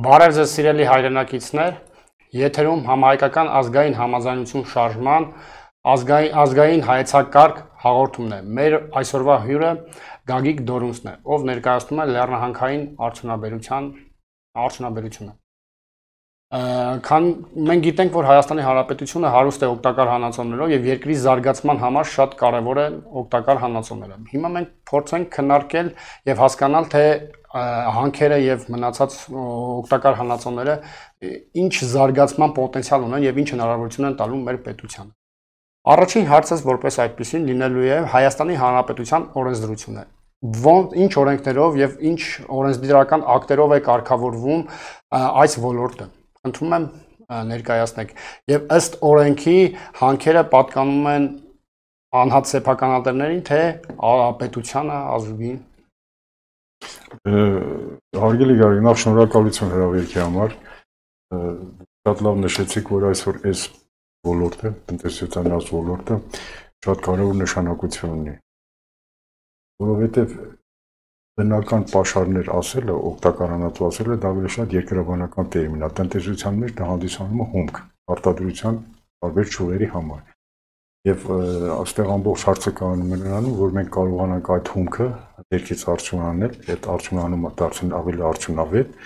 Բարև ձեզ սիրելի հայրենակիցներ, եթերում համահայկական ազգային համաձայնություն շարժման ազգային հայեցակարգ հաղորդումն է։ Մեր այսօրվա հյուրը Գագիկ Դորունցն է, ով ներկայացնում է լեռնահանքային արդյունաբերությունը։ Մենք գիտենք, որ Հայաստանի Հանրապետությունը հարուստ է օգտակար հանածոներով եւ երկրի զարգացման համար շատ կարեւոր են օգտակար հանածոները։ Հիմա մենք փորձենք քննարկել եւ հասկանալ, թե հանքերը եւ մնացած օգտակար հանածոները ինչ զարգացման պոտենցիալ ունեն եւ ինչ հնարավորություն են տալու մեր պետությանը։ Առաջին հարցս որպես այդպեսին լինելու է Հայաստանի Հանրապետության օրենսդրությունը։ Ինչ օրենքներով եւ ինչ օրենսդրական ակտերով է կարգավորվում այս ոլորտը։ Խնդրում եմ ներկայացնեք եւ ըստ օրենքի հանքերը պատկանում են անհատ սեփականատերերին, թե պետությանը, ազգին։ Հարգելի Գարիկ, նախ շնորհակալություն հրավերքի համար։ Շատ լավ նշեցիք, որ այսօր այս ոլորտը, տնտեսության այս ոլորտը շատ կարևոր նշանակություն ունի։ Որովհետև բնական պաշարներ ասելը, օգտակար հանածո ասելը դա ավելի շատ երկրաբանական տերմին է։ Տնտեսության մեջ դա հանդիսանում է հումք, արտադրության տարբեր ճյուղերի համար։ Եվ այստեղ ամբողջ հարցը կանում է նրանում, որ մենք կարողանանք այդ հումքը ներքից արդյունանել, այդ արդյունանումը դարձնել ավելի արդյունավետ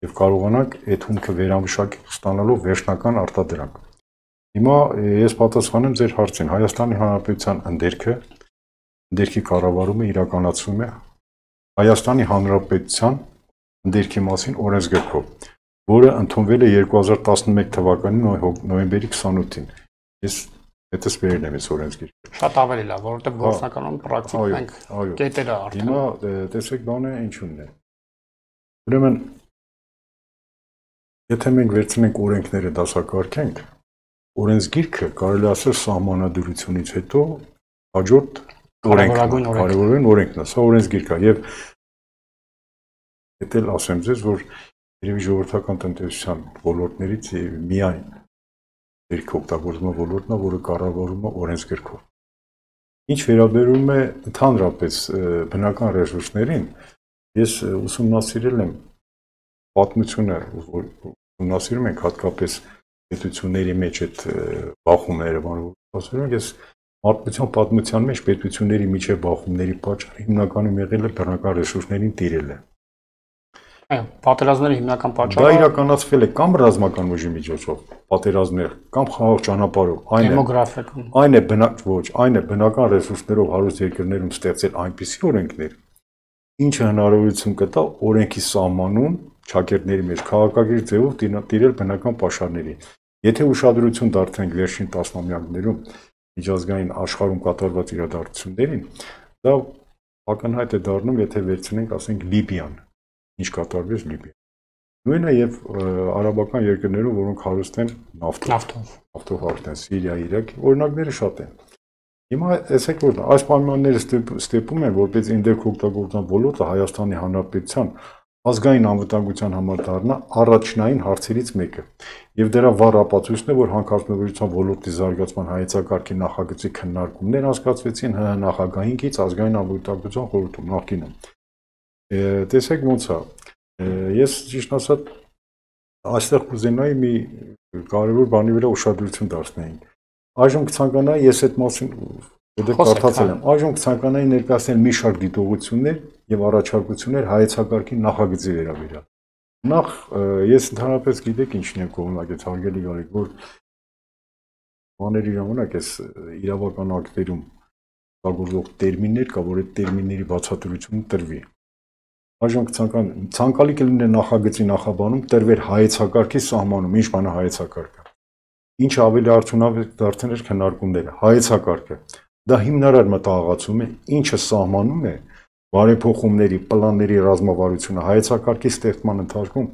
եւ կարողանանք այդ հումքը վերամշակել ստանալով վերջնական արտադրանք։ Հիմա ես պատասխանեմ ձեր հարցին։ Հայաստանի Հանրապետության ընդերքի կառավարումը իրականացվում է Հայաստանի Հանրապետության ընդերքի մասին օրենսգրքով, որը ընդունվել է 2011 թվականի նոյեմբերի 28-ին։ Ես հետս վերել եմ այս օրենսգիրքը։ Շատ ավելի լավ, որովհետև գործնականում պրակտիկ մենք կետերը արդեն։ Հիմա տեսեք բանը ինչու՞նն է։ Ուրեմն եթե մենք վերցնենք օրենքները դասակարգենք, օրենսգիրքը կարելի ասել սահմանադրությունից հետո հաջորդ կարևորագույն օրենքն է, սա օրենսգիրք է եւ դա էլ ասեմ ձեզ, որ երևի ժողովրդական տնտեսության ոլորտներից միայն ներքի օգտագործման ոլորտն է, որը կառավարվում է օրենսգրքով։ Ինչ վերաբերում է ընդհանրապես բնական ռեսուրսներին, ես ուսումնասիրել եմ պատմությունը, ուսումնասիրում ենք հատկապես պետությունների մեջ այդ բախումները, բանալու ես մարդկության պատմության մեջ պետությունների միջև բախումների պատճառը հիմնականում եղել է բնական ռեսուրսներին տիրելը։ Այո, պատերազմների հիմնական պատճառը դա իրականացվել է կամ ռազմական ուժի միջոցով, պատերազմներ, կամ խաղաղ ճանապարհով, այն է բնական ռեսուրսներով հարուստ երկրներում ստեղծել այնպիսի օրենքներ, ինչը հնարավորություն կտա օրենքի սահմանում ճակերտների մեջ քաղաքակիրթ ձևով տիրել բնական պաշարներին։ Եթե ուշադրություն դարձնենք վերջին տասնամյակներում միջազգային աշխարհում կատարված իրադարձություններին, դա ակնհայտ է դառնում, եթե վերցնենք, ասենք, Լիբիան, ինչ կատարվեց Լիբիա։ Նույնը եւ արաբական երկրներում, որոնք հարուստ են նավթով հարուստ են, Սիրիա, Իրաք, օրինակները շատ են։ Հիմա տեսեք, որ այս պայմանները ստեպում են, որպես ընդերք օգտագործման ոլորտը Հայաստանի Հանրապետության ազգային անվտանգության համար դառնա առաջնային հարցերից մեկը։ Եվ դրա վառ ապացույցն է, որ հանքարդյունաբերության ոլորտի զարգացման հայեցակարգի նախագծի քննարկումներ անցկացվեցին ՀՀ նախագահին կից ազգային անվտանգության խորհրդում նախկինում։ Տեսեք ոնց է։ Ես ճիշտ ասած այստեղ կուզենայի մի կարևոր բանի վրա ուշադրություն դարձնեին։ Այժմ կցանկանայի ես այդ մասին կարդացել եմ։ Այժմ կցանկանայի ներկայացնել մի շարք դիտողություններ եւ առաջարկություններ հայեցակարգի նախագծի վերաբերյալ։ Նախ ես ընդհանրապես գիտեք ինչն եմ կողմնակից հարգելի Գարիկ, որ բաների ժամանակ էս իրավական ակտերում օգտագործող տերմիններ կա, որ այդ տերմինների բացատրությունը տրվի։ Այժմ ցանկալի կլինի նախագծի նախաբանում տրվեր հայեցակարգի սահմանում, ինչ բան է հայեցակարգը։ Ինչ ավելի արդյունավետ դարձնել քննարկումները, հայեցակարգը։ Դա հիմնարար մտահղացում է, ինչը սահմանում է բարեփոխումների, պլանների ռազմավարությունը, հայեցակարգի ստեղծման ընթացքում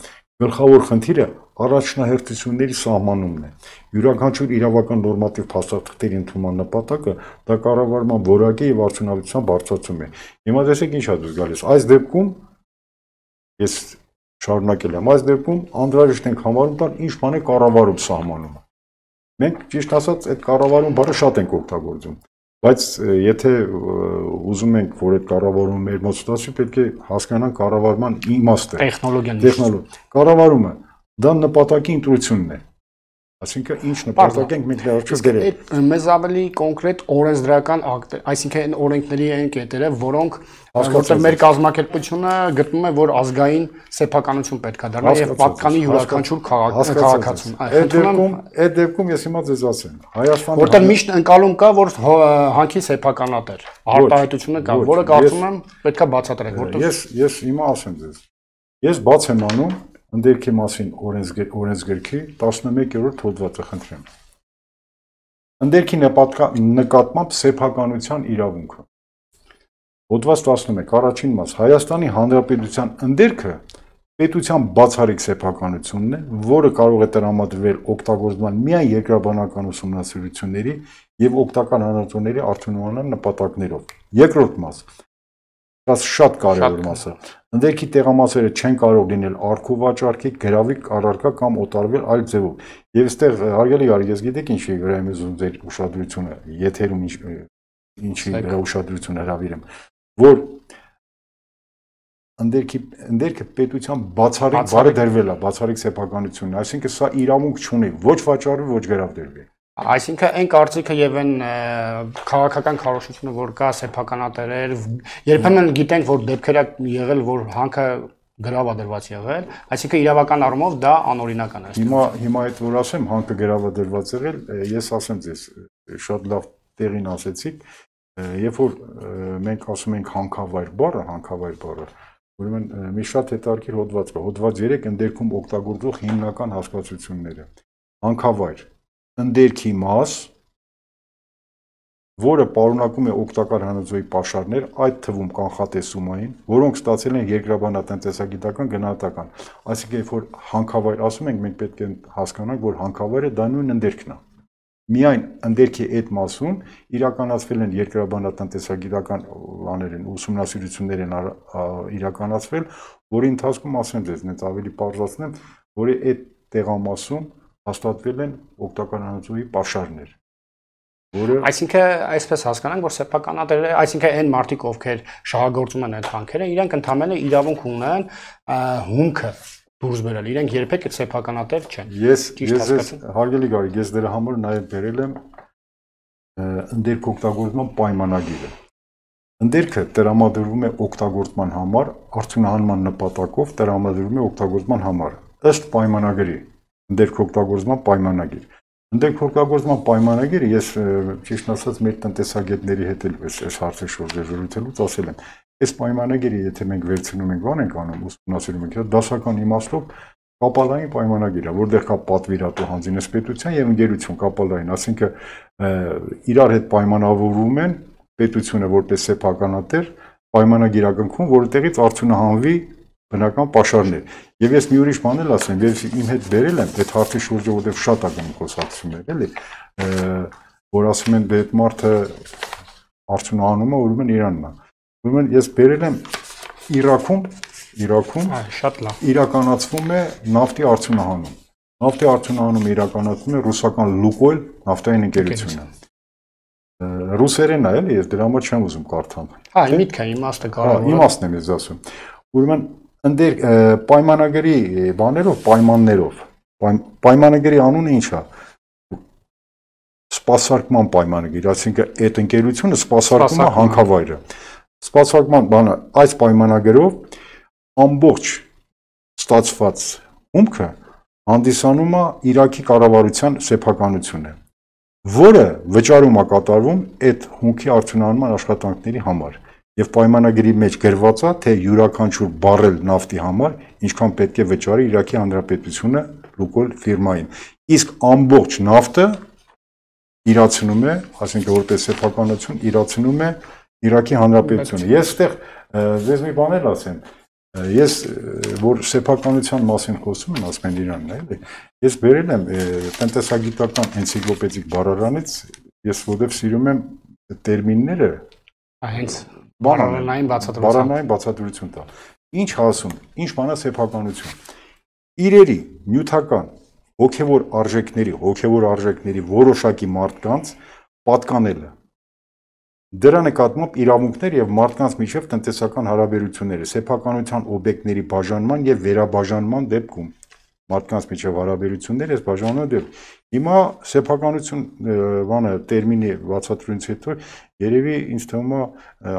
գլխավոր խնդիրը առաջնահերթությունների սահմանումն է։ Յուրաքանչյուր իրավական նորմատիվ փաստաթղթերի ընդունման նպատակը դա կառավարման որակի եւ արդյունավետության բարձրացում է։ Հիմա տեսեք ինչ է դուրս գալիս։ Այս դեպքում ես շարունակել եմ, այս դեպքում անդրաժեշտ ենք համարում տալ ինչ բան է կառավարում սահմանումը։ Մենք ճիշտ ասած այդ կառավարում բառը շատ ենք օգտագործում։ Բայց եթե ուզում ենք, որ այդ կառավարումը մեր մոտ ստացվի, պետք է հասկանանք կառավարման իմաստը, տեխնոլոգիան, կառավարումը դա նպատակի ընտրությունն է։ Այսինքն ինչ նպատակ ենք մենք ներառչել դերել։ Մեզ ավելի կոնկրետ օրենսդրական ակտ, այսինքն այն օրենքների այն կետերը, որոնք որտեղ մեր կազմակերպությունը գտնում է, որ ազգային սեփականություն պետք է դառնա եւ պատկանի յուրաքանչյուր քաղաքացուն։ Այդ դեպքում ես հիմա ձեզ ասեմ, Հայաստանը որտեղ միշտ ընկալում կա, որ հանքի սեփականատեր արտահայտությունը կա, որը կարծում եմ պետքա բացատրել, որտեղ ես հիմա ասեմ ձեզ։ Ես բաց եմ անում ընդերքի մասին օրենսգրքի 11-րդ հոդվածը, խնդրեմ։ Ընդերքի նկատմամբ սեփականության իրավունքը։ Հոդված 11, առաջին մաս, Հայաստանի Հանրապետության ընդերքը պետության բացառիկ սեփականությունն է, որը կարող է տրամադրվել օգտագործման միայն երկրաբանական ուսումնասիրությունների եւ օգտական հանրությունների արդյունահանման նպատակներով։ Երկրորդ մաս, դա շատ կարևոր մաս է։ Ընդերքի տեղամասերը չեն կարող լինել արքու վաճառքի, գրավի, առարկա կամ օտարվել այլ ձևով։ Եվ այստեղ հարգելի արի, ես գիտեք ինչի վրա եմ ուզում ձեր ուշադրությունը, եթերում ինչի վրա ուշադրություն հրավիրեմ, որ ընդերքը պետության բացառիկ բառը դրվել է, բացառիկ սեփականությունն, այսինքն սա իրավունք չունի ոչ վաճառի, ոչ գրավ դրվի։ Այսինքն այն կարծիքը եւ այն քաղաքական քարոշությունը, որ կա սեփականատերեր, երբեմն գիտենք, որ դեպքեր եղել, որ հանքը գրավադրված եղել, այսինքն իրավական առումով դա անօրինական է։ Հիմա այդ որ ասեմ, հանքը գրավադրված եղել, ես ասեմ ձեզ, շատ լավ տեղին ասեցիք, երբ որ մենք ասում ենք հանքավայր բառը, ուրեմն մի շատ հետաքրքիր հոդված կա, հոդված 3 ընդերքում օգտագործող հիմնական հասկացությունները։ Հանքավայր, ընդերքի մաս, որը պարունակում է օգտակար հանածոյի պաշարներ, այդ թվում կանխատեսումային, որոնք ստացել են երկրաբանատնտեսագիտական գնահատական։ Այսինքն, երբ որ հանքավայր ասում ենք, մենք պետք է հասկանանք, որ հանքավայրը դա նույն ընդերքն է։ Միայն ընդերքի այդ մասում իրականացվել են երկրաբանատնտեսագիտական բաներ են, ուսումնասիրություններ են իրականացվել, որի ընթացքում ասեմ ձեզ, նենց ավելի պարզացնեմ, որ այդ տեղամասում հաստատվել են օգտակար հանածոյի պաշարներ։ Այսինքն այսպես հասկանանք, որ սեփականատերերը, այսինքն այն մարդիկ, ովքեր շահագործում են այդ հանքերը, իրենք ընդհանրապես իրավունք ունեն հումքը դուրս բերել, իրենք երբեք սեփականատեր չեն։ Ես հարգելի Գարիկ, ես դրա համար նաև բերել եմ ընդերք օգտագործման պայմանագիրը։ Ընդերքը տրամադրվում է օգտագործման համար, արդյունահանման նպատակով տրամադրվում է օգտագործման համար, ըստ պայմանագրի, ընդերք օգտագործման պայմանագիր։ Ընդերք օգտագործման պայմանագիրը ես ճիշտ ասած մեր տնտեսագետների հետ էլ այս հարցի շուրջ զրուցելուց ասել եմ, այս պայմանագիրը եթե մենք վերցնում ենք, բան ենք անում, ուսումնասիրում ենք, դասական իմաստով կապալային պայմանագիր է, որտեղ կա պատվիրատու հանձինեսպետության եւ ընկերություն կապալային, այսինքն իրար հետ պայմանավորվում են պետությունը որպես սեփականատեր պայմանագիրակնքում, որտեղից արդյունահանվի բնական պաշարներ։ Եվ ես մի ուրիշ բան էլ ասեմ, ես իմ հետ բերել եմ այդ հարցի շուրջը, որտեղ շատ ակն խոսակցություններ էլի, որ ասում են դե այդ մարդը արդյունահանում է, ուրեմն Իրանն է։ Ուրեմն ես բերել եմ Իրաքում շատ լավ իրականացվում է նավթի արդյունահանում։ Նավթի արդյունահանումը իրականացվում է ռուսական Լուկոյլ նավթային ընկերությունը։ Ռուսերենն է, էլի, ես դրա համար չեմ ուզում կարդամ։ Հա, միտքը իմաստը կարող է։ Իմաստն եմ ես ասում։ Ուրեմն ընդեր պայմանագրի բաներով, պայմաններով, պայմանագրի անունը ինչ է։ Սպասարկման պայմանագիր, այսինքն այդ ընկերությունը սպասարկում է հանքավայրը։ Սպասարկման բանը այս պայմանագրով ամբողջ ստացված հումքը հանդիսանում է Իրաքի կառավարության սեփականությունը, որը վճարում է կատարվում այդ հումքի արդյունահանման աշխատանքների համար։ Եվ պայմանագրի մեջ գրված է, թե յուրաքանչյուր բարել նավթի համար ինչքան պետք է վճարի Իրաքի Հանրապետությունը Լուկոյլ ֆիրմային։ Իսկ ամբողջ նավթը իրացնում է, ասենք որպես սեփականություն իրացնում է Իրաքի Հանրապետությունը։ Ես այդտեղ ձեզ մի բան էլ ասեմ, ես որ սեփականության մասին խոսում եմ, ասում են Իրանն է, էլի։ Ես բերել եմ տնտեսագիտական էնցիկլոպեդիկ բառարանից, ես որտեղ սիրում եմ տերմինները, հենց բառանային բացատրություն տա։ Ինչ ասում, ինչ բան է սեփականություն։ Իրերի նյութական հոգևոր արժեքների որոշակի մարդկանց պատկանելը Դրա նկատմամբ իրավունքներ եւ մարդկանց միջև տնտեսական հարաբերությունները, սեփականության օբյեկտների բաժանման եւ վերաբաժանման դեպքում մարդկանց միջև հարաբերություններ, այս բաժանման դեպքում հիմա սեփականություն բանը տերմինի բացատրությունից հետո երևի ինձ թվում է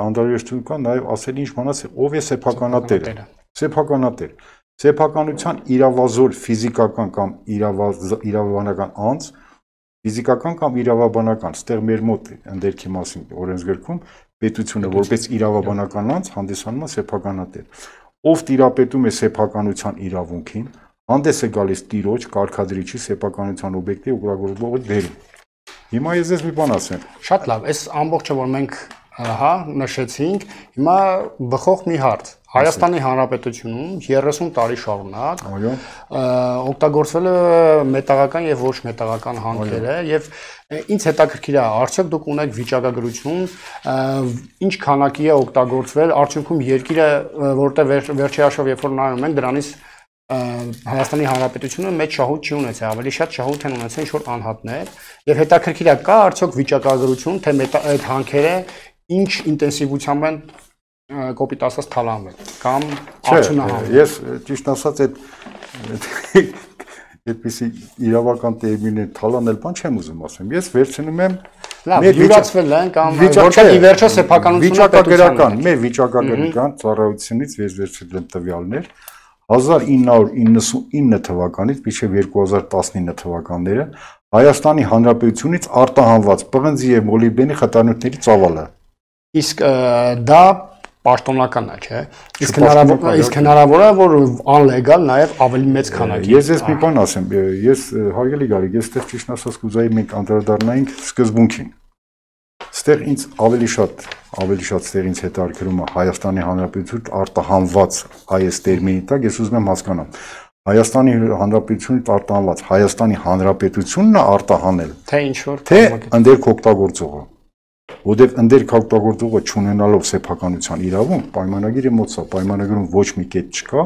անդրադարձություն կա նաեւ ասել ինչ բանաց ով է սեփականատերը։ Սեփականատեր սեփականության իրավազոր ֆիզիկական կամ իրավաբանական անձ ֆիզիկական կամ իրավաբանական, ստեղ մեր մոտ ընդերքի մասին օրենսգրքում պետությունը որպես իրավաբանական անձ հանդիսանում է սեփականատեր, ով տիրապետում է սեփականության իրավունքին, հանդես է գալիս տիրոջ, կարգադրիչի սեփականության օբյեկտի օգտագործողի դերում։ Հիմա ես մի բան ասեմ։ Շատ լավ, այս ամբողջը որ մենք նշեցինք, հիմա բխող մի հարց։ Հայաստանի Հանրապետությունում 30 տարի շարունակ օգտագործվել է մետաղական եւ ոչ մետաղական հանքերը եւ ինձ հետաքրքիր է արդյոք դուք ունեք վիճակագրություն ինչ քանակի է օգտագործվել արդյունքում երկիրը որտեղ վերջի հաշվով երբ որ նայում ենք դրանից Հայաստանի Հանրապետությունը մեծ շահույթ չի ունեցել, ավելի շատ շահույթ են ունեցել ինչ որ անհատներ եւ հետաքրքիր է կա արդյոք վիճակագրություն թե այդ հանքերը ինչ ինտենսիվությամբ են կոպիտ ասած թալանվել կամ արդյունահանվել։ Ես ճիշտ ասած այդպիսի իրավական տերմինը թալանել բան չեմ ուզում ասեմ։ Ես վերցնում եմ յուրացվել են կամ որքան ի վերջո սեփականությունը վիճակագրական, մեր վիճակագրական ծառայությունից վերցրել եմ տվյալներ 1999 թվականից մինչև 2019 թվականները Հայաստանի Հանրապետությունից արտահանված պղնձի եւ մոլիբդենի խտանյութերի ծավալը։ Իսկ դա պաշտոնական է, չէ՞։ Իսկ հնարավոր է որ անլեգալ նաև ավելի մեծ քանակի։ Ես մի բան ասեմ, ես հարգելի Գարիկ, ես այդտեղ ճիշտ ասած կուզեի մենք անդրադառնայինք սկզբունքին։ Այստեղ ինձ ավելի շատ այստեղ ինձ հետաքրքրում է Հայաստանի Հանրապետություն արտահանված այս տերմինի տակ ես ուզում եմ հասկանամ Հայաստանի Հանրապետությունից արտահանված Հայաստանի Հանրապետությունն է արտահանել թե ինչ որ թե ընդերք օգտագործողը որտեղ ընդերք օգտագործողը չունենալով սեփականության իրավունք պայմանագիրը մոտ է պայմանագրում ոչ մի կետ չկա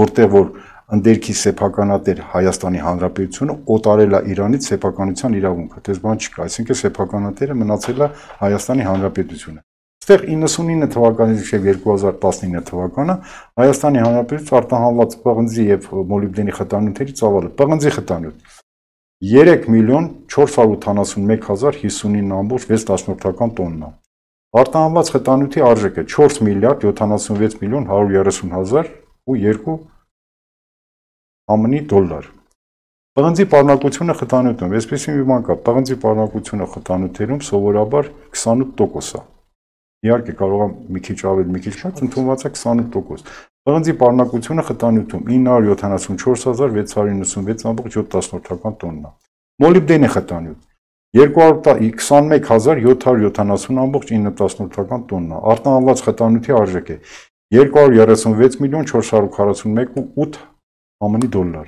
որտեղ որ ընդերքի սեփականատեր Հայաստանի Հանրապետությունը օտարել է Իրանից սեփականության իրավունքը, դες բան չկա, այսինքն սեփականատերը մնացել է Հայաստանի Հանրապետությունը։ Այստեղ 99 թվականից մինչև 2019 թվականը Հայաստանի Հանրապետությունից արտահանված պղնձի եւ մոլիբդենի խտանյութերի ծավալը, պղնձի խտանյութ 3,481,059,6 տոննա։ Արտահանված խտանյութի արժեքը 4 միլիարդ 76 միլիոն 130,002 ԱՄՆ դոլար։ Պղնձի պարունակությունը խտանյութում, այսպեսի մի բան կա, պղնձի պարունակությունը խտանյութերում սովորաբար 28% է։ Իհարկե կարող է մի քիչ ավելի, մի քիչ շատ, ընդունված է 28%։ Պղնձի պարունակությունը խտանյութում 974,696,7 տոննա։ Մոլիբդենի խտանյութ 221,770,9 տոննա։ Արտահանված խտանյութի արժեքը 236,441,8 ԱՄՆ դոլար։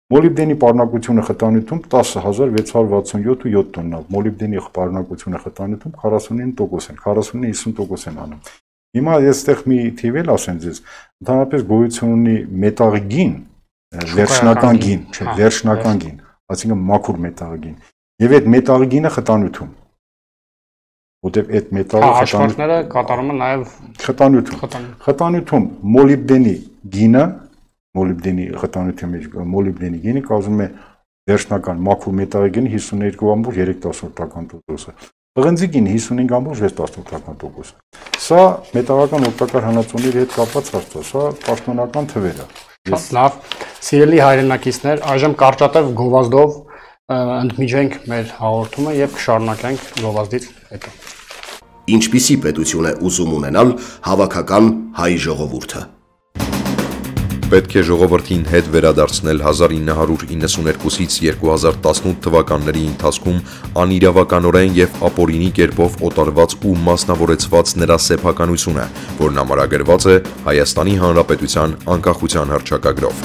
Մոլիբդենի պարունակությունը խտանյութում 10,667,7 տոննա։ Մոլիբդենի պարունակությունը խտանյութում 49% են, 49-50% են անում։ Հիմա ես այդտեղ մի թիվ էլ ասեմ ձեզ, ընդհանրապես գոյություն ունի մետաղի գին, վերջնական գին, չէ, վերջնական գին, այսինքն մաքուր մետաղի գին։ Եվ այդ մետաղի գինը խտանյութում։ Որտեղ այդ մետաղի հաշվարկները կատարում են նաև խտանյութում։ Խտանյութում մոլիբդենի գինը մոլիբդենի խտանյութի մեջ մոլիբդենի գինը կազմում է վերջնական մաքուր մետաղի գինի 52,3%։ Պղնձի գինը 55,6%։ Սա մետաղական օգտակար հանածոների հետ կապված հարց է, սա պաշտոնական թվեր է։ Շատ լավ, սիրելի հայրենակիցներ, այժմ կարճատև գովազդով ընդմիջենք մեր հաղորդումը եւ կշարունակենք գովազդից հետո։ Ինչպիսի պետություն է ուզում ունենալ հավաքական հայ ժողովուրդը։ Պետք է ժողովրդին հետ վերադարձնել 1992-ից 2018 թվականների ընթացքում անիրավականորեն եւ ապօրինի կերպով օտարված ու մասնավորեցված նրա սեփականությունը, որն ամրագրված է Հայաստանի Հանրապետության անկախության հռչակագրով։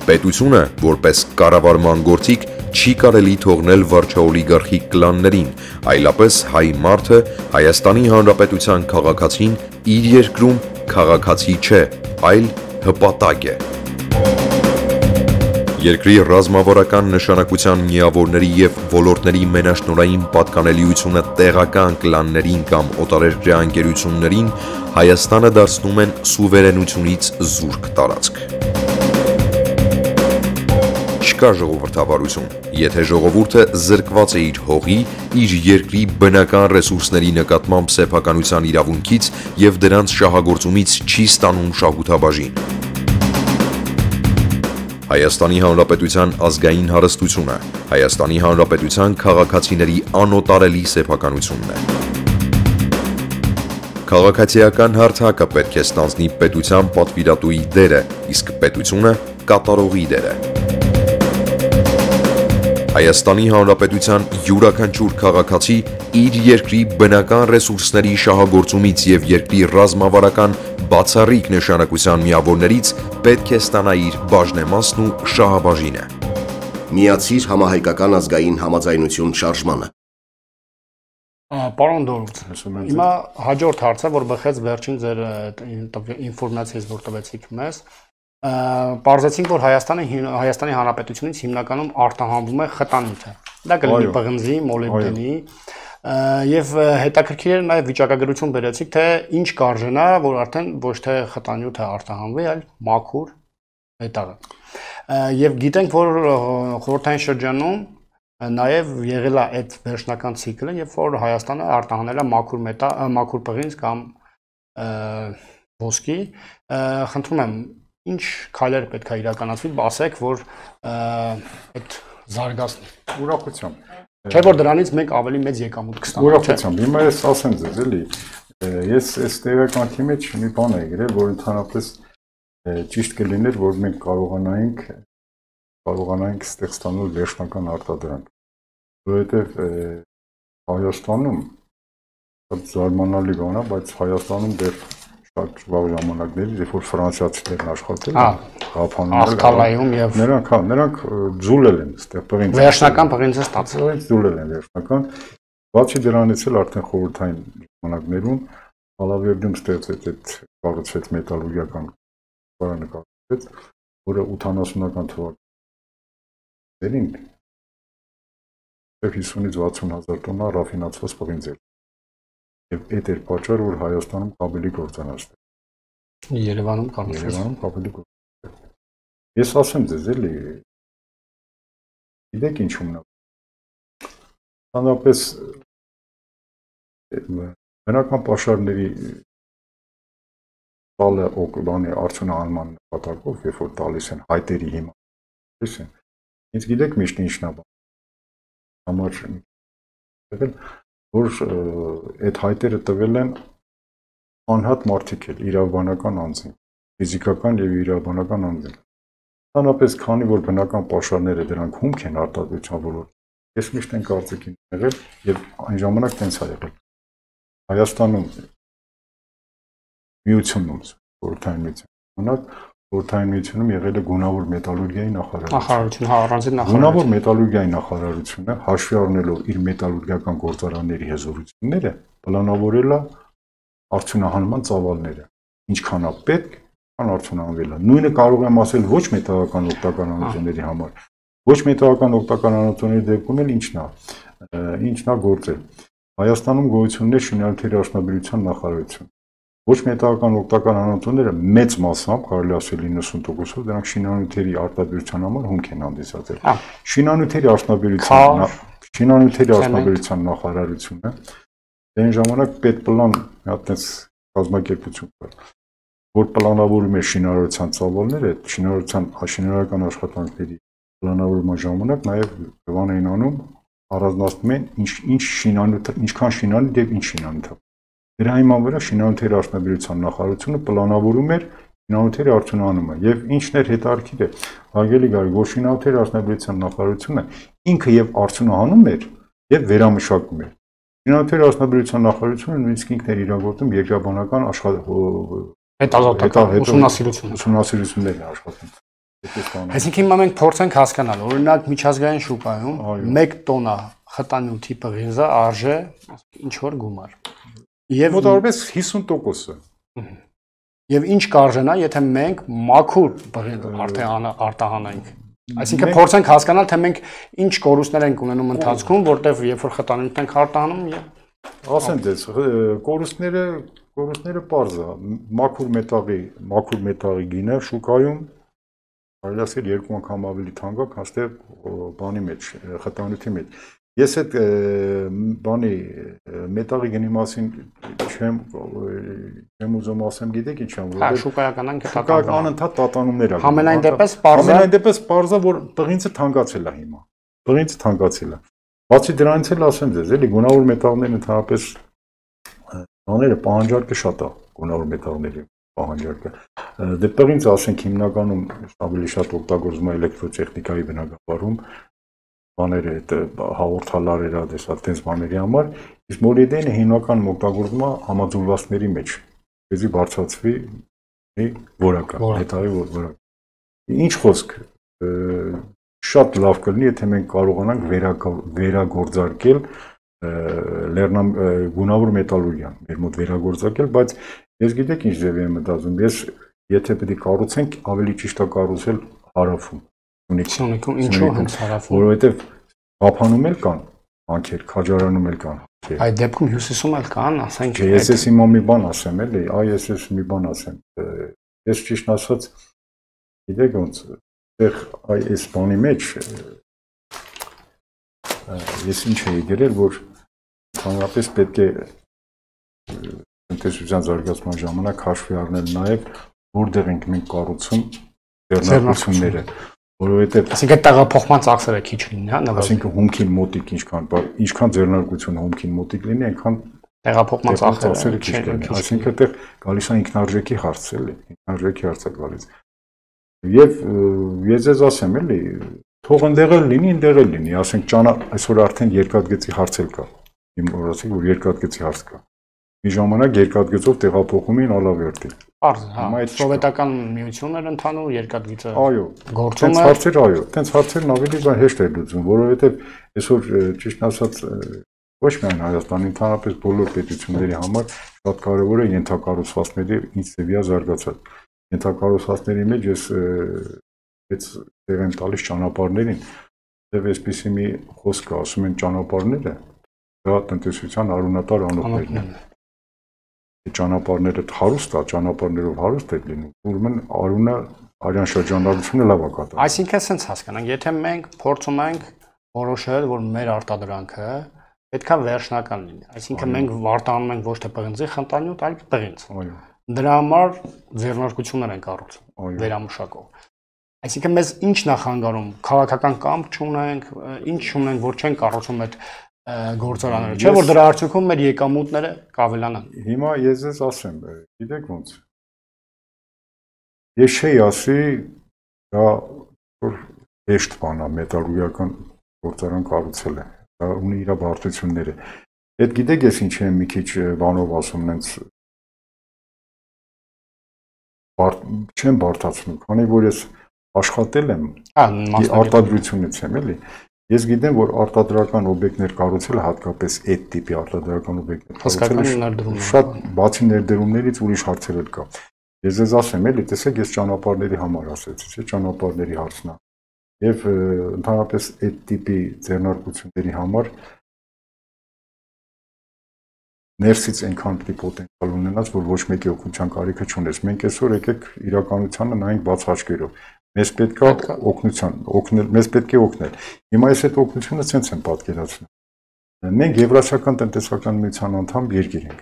Պետությունը, որպես կառավարման գործիք, չի կարելի թողնել վարչաօլիգարխիկ կլաններին, այլապես հայ մարդը Հայաստանի Հանրապետության քաղաքացին իր երկրում քաղաքացի չէ, այլ հպատակ է։ Երկրի ռազմավարական նշանակության միավորների և ոլորտների մենաշնորհային պատկանելիությունը տեղական կլաններին կամ օտարերկրյա ընկերություններին Հայաստանը դարձնում են սուվերենությունից զուրկ տարածք։ Չկա ժողովրդավարություն, եթե ժողովուրդը զրկված է իր հողի, իր երկրի բնական ռեսուրսների նկատմամբ սեփականության իրավունքից և դրանց շահագործումից չի ստանում շահութաբաժին։ Հայաստանի Հանրապետության ազգային հարստությունը, Հայաստանի Հանրապետության քաղաքացիների անօտարելի սեփականությունն է։ Քաղաքացիական հարթակը պետք է ստանձնի պետության պատվիրատուի դերը, իսկ պետությունը կատարողի դերը։ Հայաստանի Հանրապետության յուրաքանչյուր քաղաքացի իր երկրի բնական ռեսուրսների շահագործումից և երկրի ռազմավարական բացառիկ նշանակության միավորներից պետք է ստանա իր բաժնեմասն ու շահաբաժինը։ Միացիր համահայկական ազգային համաձայնություն շարժմանը։ Պարոն Դորուց, հիմա հաջորդ հարցը, որ բխեց վերջին ձեր ինֆորմացիայից, որ տվեցիք մեզ, պարզեցինք, որ Հայաստանի Հանրապետությունից հիմնականում արտահանվում է խտանյութը։ Դա կլինի պղնձի, մոլիբդենի, եւ հետաքրքիր է նաեւ վիճակագրություն բերեցիք, թե ինչ կարժենա, որ արդեն ոչ թե խտանյութը արտահանվի, այլ մաքուր մետաղը։ Եվ գիտենք, որ խորհրդային շրջանում նաեւ եղել է այդ վերջնական ցիկլը, երբ որ Հայաստանը արտահանել է մաքուր պղինձ կամ ոսկի։ Խնդրում եմ, ինչ քայլեր պետք է իրականացվի, ասեք, որ այդ զարգացնի։ Ուրախությամբ։ Չէ՞ որ դրանից մենք ավելի մեծ եկամուտ կստանանք։ Ուրախությամբ։ Հիմա ես ասեմ ձեզ, էլի, ես այս տեղեկանքի մեջ մի բան եմ գրել, որ ընդհանրապես ճիշտ կլիներ, որ մենք կարողանայինք ստեղ ստանալ վերջնական արտադրանք, որովհետև Հայաստանում շատ զարմանալի բան է, բայց Հայաստանում դեռ շատ վաղ ժամանակներից, երբ որ ֆրանսիացիներն աշխատել են, Աղթալայում եւ նրանք ձուլել են այստեղ պղինձ։ Վերջնական պղինձը ստացել են, ձուլել են վերջնական։ Բացի դրանից էլ արդեն խորհրդային ժամանակներում Ալավերդում ստեղծեց այդ կառուցվեց մետալուրգիական կառույցը կառուցվեց, որը 80-ական թվականներին 50-ից 60 հազար տոննա ռաֆինացված պղինձ էր։ Եվ այդ էր պատճառը, որ Հայաստանում կաբելի գործանաց։ Երևանում կաբելի գործանաց։ Ես ասեմ ձեզ, էլի, գիտեք ինչու՞մն է։ Ընդհանրապես բնական պաշարների տալը օկլանի արդյունահանման նպատակով, երբ որ տալիս են հայտերի հիման, ինձ գիտեք միշտ ինչն է համար եղել, որ այդ հայտերը տվել են անհատ մարդիկ էլ, իրավաբանական անձինք, ֆիզիկական և իրավաբանական անձինք։ Ընդհանրապես, քանի որ բնական պաշարները դրանք հումք են արտադրության ոլորտում, ես միշտ այն կարծիքին եղել և այն ժամանակ տենց է եղել։ Հայաստանում միությունում, խորհրդային միությունում, խորհրդային միությունում եղել է գունավոր մետալուրգիայի նախարարությունը։ Գունավոր մետալուրգիայի նախարարությունը, հաշվի առնելով իր մետալուրգիական գործարանների հզորությունները, պլանավորել է արդյունահանման ծավալները, ինչքան է պետք, քան արդյունահանվել է։ Նույնը կարող եմ ասել ոչ մետաղական օգտակար անոթների համար։ Ոչ մետաղական օգտակար անոթների դեպքում էլ ինչն է գործել։ Հայաստանում գոյություն ունի շինանյութերի արդյունաբերության նախարարություն։ Ոչ մետաղական օգտակար անոթները մեծ մասամբ, կարելի ասել 90%-ով, դրանք շինանյութերի արտադրության համար հումք են հանդիսացել։ Շինանյութերի արդյունաբերության նախարարությունը այն ժամանակ պետպլան մի հատ տես կազմակերպություն կար, որ պլանավորում է շինարարության ծավալները, շինարարական աշխատանքների պլանավորման ժամանակ նաև բան էին անում, առանձնացնում են ինչքան շինանյութ եւ ինչ շինանյութ։ Դրա հիման վրա շինանյութերի արդյունաբերության նախարարությունը պլանավորում էր շինանյութերի արդյունահանումը եւ ինչն էր հետարքիր է, հարգելի գարի, որ շինանյութերի արդյունաբերության նախարարությունը ինքը եւ արդյունահանում էր եւ վերամշակում էր։ Շինանյութերի արդյունաբերության նախարարությունը նույնիսկ ինքն էր իրագործում երկրաբանական ուսումնասիրություններ աշխատում։ Այսինքն հիմա մենք փորձենք հասկանալ, օրինակ միջազգային շուկայում 1 տոննա խտանյութի պղինձը արժե ինչ որ գումար։ Եվ մոտավորապես 50%-ը։ Եվ ինչ կարժենա, եթե մենք մաքուր պղինձ արտահանենք։ Այսինքն փորձենք հասկանալ, թե մենք ինչ կորուստներ ենք ունենում ընթացքում, որտեղ երբ որ խտանյութ ենք արտահանում եւ ասեմ դες կորուստները պարզ է, մաքուր մետաղի գինը շուկայում կարելի ասել 2 անգամ ավելի թանկ է, քան թե բանի մեջ, խտանյութի մեջ։ Ես այդ բանի մետաղի գնի մասին չեմ ուզում ասեմ, գիտեք ինչ եմ, որ շուկայական անընդհատ տատանումներ ա։ Ամենայն դեպս պարզ է, որ բղինցը թանկացել է հիմա։ Բղինցը թանկացել է։ Բացի դրանից էլ ասեմ ձեզ, էլի գունավոր մետաղներն ընդհանրապես բաները պահանջարկը շատ է, գունավոր մետաղների պահանջարկը։ Դե բղինցը ասենք հիմնականում ավելի շատ օգտագործվում է էլեկտրոտեխնիկայի բնագավառում, բաները այդ հաղորդալարերը, դες բաների համար, իսկ մոլիբդենը հիմնականում օգտագործվում է համաձուլվածքների մեջ, որպեսզի բարձրացվի որակը, մետաղի որակը։ Ինչ խոսք, շատ լավ կլինի, եթե մենք կարողանանք վերագործարկել գունավոր մետալուրգիան, մեր մոտ վերագործարկել, բայց ես գիտեք ինչ ձևի եմ մտածում, ես եթե պետք է կառուցենք, ավելի ճիշտ է կառուցել հարավում, Սյունիքում, ինչու հենց հարավում, որովհետև Ղափանում էլ կան հանքեր, Քաջարանում էլ կան հանքեր։ Այդ դեպքում հյուսիսում էլ կան, ասենք։ Ես ես հիմա մի բան ասեմ, էլի, ես մի բան ասեմ։ Ես ճիշտ ասած, գիտեք ոնց, այս բանի մեջ ես ինչ էի գրել, որ ընդհանրապես պետք է տնտեսության զարգացման ժամանակ հաշվի առնել նաև որտեղ ենք մենք կառուցում ձեռնարկությունները, որովհետև այսինքն տեղափոխման ծախսերը քիչ լինի, հա, այսինքն հումքին մոտիկ ինչքան ձեռնարկությունը հումքին մոտիկ լինի, այնքան տեղափոխման ծախսերը քիչ լինի, այսինքն այդտեղ գալիս է ինքնարժեքի հարց, էլի, ինքնարժեքի հարց է գալիս։ Եվ ես ձեզ ասեմ, էլի, թող ընդեղ էլ լինի, ասենք այսօր արդեն երկաթգծի հարց էլ կա։ Իմ օրացիք, որ երկաթգծի հարց կա։ Մի ժամանակ երկաթգծով տեղափոխում էին Ալավերդի։ Պարզ, հա, սովետական միությունն էր ընդհանուր երկաթգիծը։ Այո, գործում է։ Այդտենց հարցերն ավելի հեշտ է լուծում, որովհետև այսօր ճիշտ ասած ոչ միայն Հայաստանի, ընդհանրապես բոլոր պետությունների համար շատ կարևոր է ենթակառուցվածքների ինչ ձևի զարգացած։ Ենթակառուցվածքների մեջ ես տեղ եմ տալիս ճանապարհներին, եւ այսպեսի մի խոսք կա, ասում են ճանապարհները դա տնտեսության արունատար անոթներն են։ Ճանապարհները հարուստ է, ճանապարհներով հարուստ է լինում, ուրեմն արունը արյան շրջանառությունը լավ է կատարում։ Այսինքն sense հասկանանք, եթե մենք փորձում ենք որոշել, որ մեր արտադրանքը պետքա վերջնական լինի, այսինքն մենք արտահանում ենք ոչ թե պղնձի խնտանյութ, այլ պղինձ։ Այո։ Դրա համար ձեռնարկություններ են կառուցում վերամշակող։ Այսինքն մեզ ի՞նչն է խանգարում, քաղաքական կամք չունենք, ինչ չունենք, որ չեն կառուցում այդ գործարանները, չէ՞ որ դրա արդյունքում մեր եկամուտները կավելանան։ Հիմա ես ձեզ ասեմ, գիտեք ոնց։ Ես չէի ասի, դա որ հեշտ բան է, մետալուրգիական գործարան կառուցելը, դա ունի իր բարդությունները։ Այդ գիտեք ես ինչ եմ մի քիչ բանով ասում, նենց չեմ բարդացնում, քանի որ ես աշխատել եմ, արտադրությունից եմ, էլի։ Ես գիտեմ, որ արտադրական օբյեկտներ կառուցելը հատկապես այդ տիպի արտադրական օբյեկտներ կառուցելը շատ բացի ներդրումներից ուրիշ հարցեր էլ կա։ Ես ձեզ ասեմ, էլի, տեսեք, ես ճանապարհների համար ասեցի, չէ՞, ճանապարհների հարցն է։ Եվ ընդհանրապես այդ տիպի ձեռնարկությունների համար ներսից այնքան պիտի պոտենցիալ ունենաց, որ ոչ մեկի օգնության կարիքը չունես։ Մենք այսօր եկեք իրականությանը նայենք բաց աչքերով։ Մեզ պետք է օգնել, մեզ պետք է օգնել։ Հիմա ես այդ օգնությունը ցենց եմ պատկերացնում։ Մենք Եվրասիական տնտեսական միության անդամ երկիր ենք։